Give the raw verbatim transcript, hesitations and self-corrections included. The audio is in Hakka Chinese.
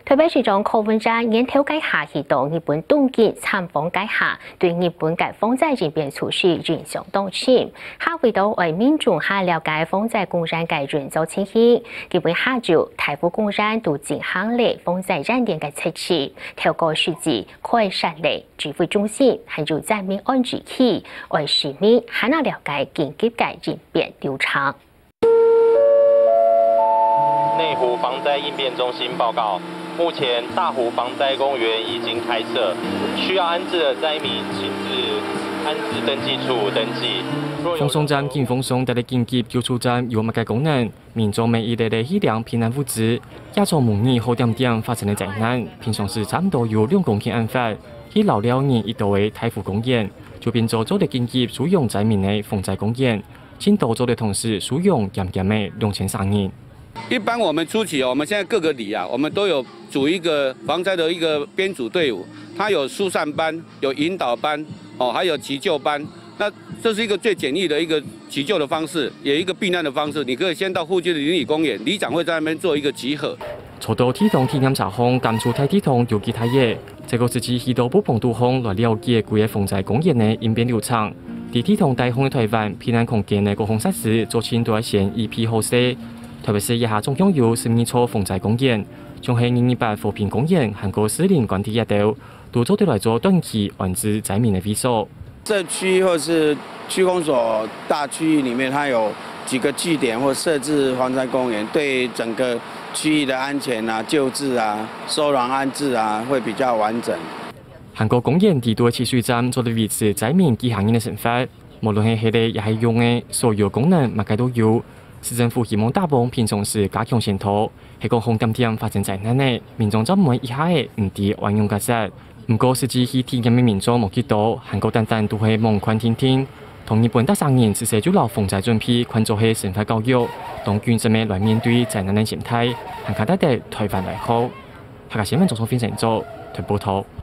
台北市長柯文哲年頭該下去到日本東京參訪該下，對日本个防災應變措施印象當深。下為著愛民眾較了解防災公園个運作情形，今晡日下晝，大湖公園都進行了防災演練个測試，透過實際觀察了指揮中心還有災民安置區，愛市民還較了解緊急个應變流程。 內湖防災應變中心報告，目前大湖防災公園已經開設，需要安置的災民，請至安置登記處登記。若有防災站緊防災，戴了緊急救助站有麼个功能？民眾每日來來去領避難物資，也做模擬好點點發生个災難，平常時差毋多有兩公頃恁闊，去老了人一到个大湖公園，就變做做得緊急收容災民个防災公園。 盡多做得同時收容減減个兩千儕人。一般我們初期哦，我們現在各個里啊，我們都有組一個防災的一個編組隊伍，它有疏散班、有引導班，哦，還有急救班。那這是一個最簡易的一個急救的方式，也一個避難的方式。你可以先到附近的鄰里公園，里長會在那邊做一個集合。坐到地動體驗車項，感受大地動有幾大个，這個實際去到不同地方來了解規个防災公園个應變流程。在地動大項个台灣，避難空間个各項設施做盡都愛先預備好勢。特別係這下總共有十二座防災公園，像係二二八和平公園，還過士林官邸這兜，都做得來做短期安置災民个位所。 社區或是區公所大區域裡面，它有幾個據點或設置防災公園，對整個區域的安全啊、救治啊、收容安置啊，會比較完整。還過公園裡肚个蓄水站做得維持災民幾下日个生活，無論係歇个也係用个，所有功能麼个都有。市政府希望打幫平常時加強宣導，係講好點點發生災難个，民眾做毋會一下仔毋知愛仰結煞。 毋過實際去體驗个民眾無幾多，還過單單都係望看定定。同日本逐儕人自細就摎防災準備看做係生活教育，當謹慎个來面對災難个心態，還較值得台灣來學。客家新聞張松芬製作，台報導。